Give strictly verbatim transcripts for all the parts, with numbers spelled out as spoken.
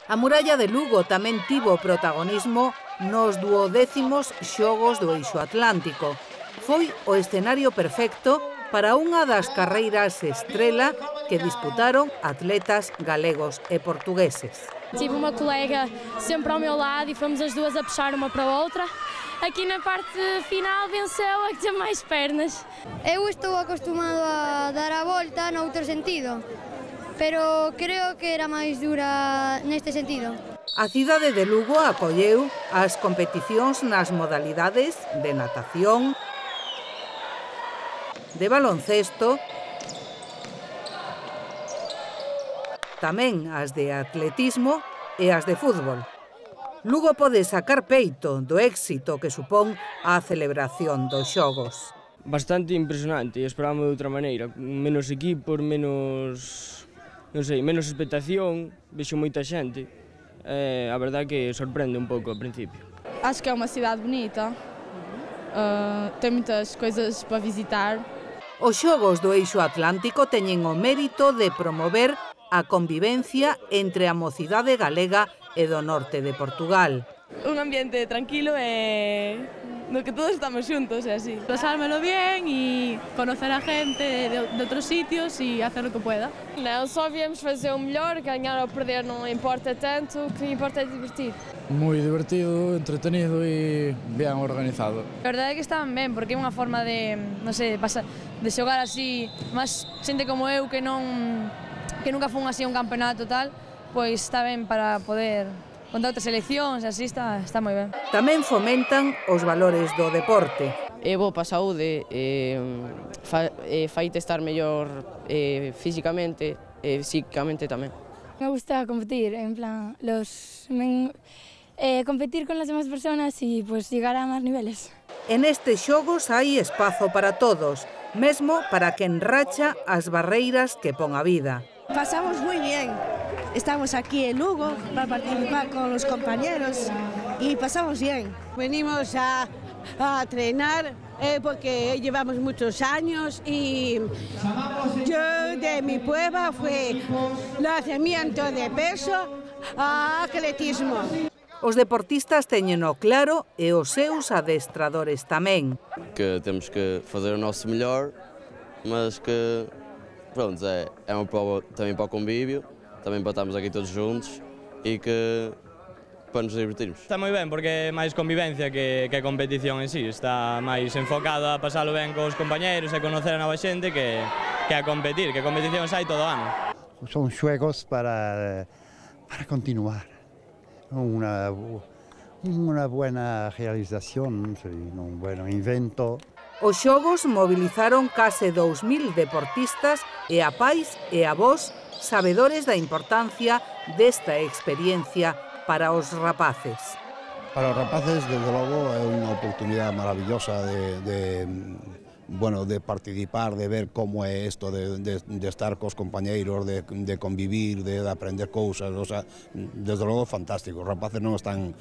A muralla de Lugo tamén tivo protagonismo nos duodécimos Xogos do Eixo Atlántico. Foi o escenario perfecto para unha das carreiras estrela que disputaron atletas galegos e portugueses. Tive uma colega sempre ao meu lado e fomos as duas a puxar uma para a outra. Aqui na parte final venceu a que tem máis pernas. Eu estou acostumado a dar a volta no outro sentido, pero creo que era máis dura neste sentido. A cidade de Lugo acolleu as competicións nas modalidades de natación, de baloncesto, tamén as de atletismo e as de fútbol. Lugo pode sacar peito do éxito que supón a celebración dos Xogos. Bastante impresionante, e esperábamos de outra maneira, menos equipos, menos, non sei, menos expectación, vexo moita xente. Eh, a verdade que sorprende un pouco ao principio. Acho que é uma cidade bonita, uh, tem muitas coisas para visitar. Os Xogos do Eixo Atlántico teñen o mérito de promover a convivencia entre a mocidade galega e do norte de Portugal. Un ambiente tranquilo e no que todos estamos xuntos e así. Pasármelo bien e conocer a gente de, de outros sitios e hacer o que pueda. Não, só viemos fazer o melhor, ganhar ou perder não importa tanto, o que importa é divertir. Moi divertido, entretenido e ben organizado. A verdade é que estaban ben, porque é unha forma de, non sei, de xogar así, máis xente como eu que non que nunca fun así un campeonato tal, pois está ben para poder contar outras seleccións, así está, está moi ben. Tamén fomentan os valores do deporte. É bo para a saúde, eh, fa, eh, faite estar mellor eh, físicamente e eh, psíquicamente tamén. Me gusta competir, en plan, los, men, eh, competir con las demás personas y pues llegar a más niveles. En estes xogos hai espazo para todos, mesmo para quen racha as barreiras que pon a vida. Pasamos muy bien. Estamos aquí en Lugo para participar con los compañeros y pasamos bien. Venimos a, a entrenar eh, porque llevamos muchos años y yo de mi prueba fue lanzamiento de peso a atletismo. Os deportistas teñeno claro e os seus adestradores tamén. Que temos que fazer o nosso melhor, mas que pronto, é, é uma prova também para o convívio, também para estarmos aqui todos juntos e que para nos divertirmos. Está moi ben porque é máis convivencia que, que a competición en sí, está máis enfocado a pasalo ben cos compañeros e conocer a nova xente que, que a competir, que competición hai todo o ano. Son xuegos para, para continuar, una, una buena realización, un buen invento. Os xogos mobilizaron case dous mil deportistas e a pais e avós sabedores da importancia desta experiencia para os rapaces. Para os rapaces, desde logo, é unha oportunidade maravillosa de, de, bueno, de participar, de ver como é isto, de, de, de estar cos compañeiros, de, de convivir, de, de aprender cousas, o sea, desde logo fantástico. Os rapaces non están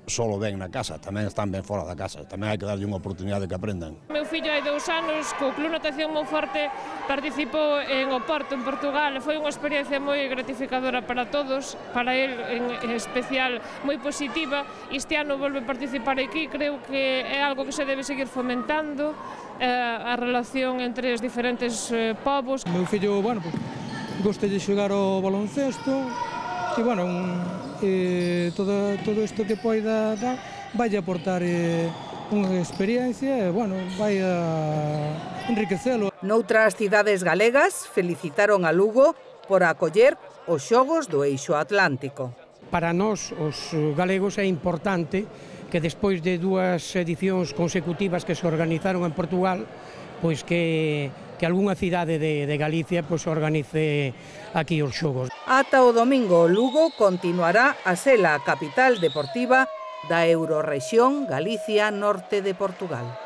solo ben na casa, tamén están ben fora da casa, tamén hai que darlle unha oportunidade que aprendan. Meu fillo hai dous anos, co Club Natación Monforte, participou en Oporto, en Portugal, foi unha experiencia moi gratificadora para todos, para el en especial moi positiva. Este ano volve a participar aquí, creo que é algo que se debe seguir fomentando, eh, a relación entre os diferentes eh, povos. Meu fillo, bueno, pues, gosta de xogar ao baloncesto, e, bueno, un, eh, todo, todo isto que poida dar vai aportar eh, unha experiencia e, bueno, vai a enriquecelo. Noutras cidades galegas felicitaron a Lugo por acoller os Xogos do Eixo Atlántico. Para nós, os galegos, é importante que despois de dúas edicións consecutivas que se organizaron en Portugal, pois que que algunha cidade de, de Galicia pois organice aquí os xogos. Ata o domingo, Lugo continuará a ser a capital deportiva da Eurorrexión Galicia Norte de Portugal.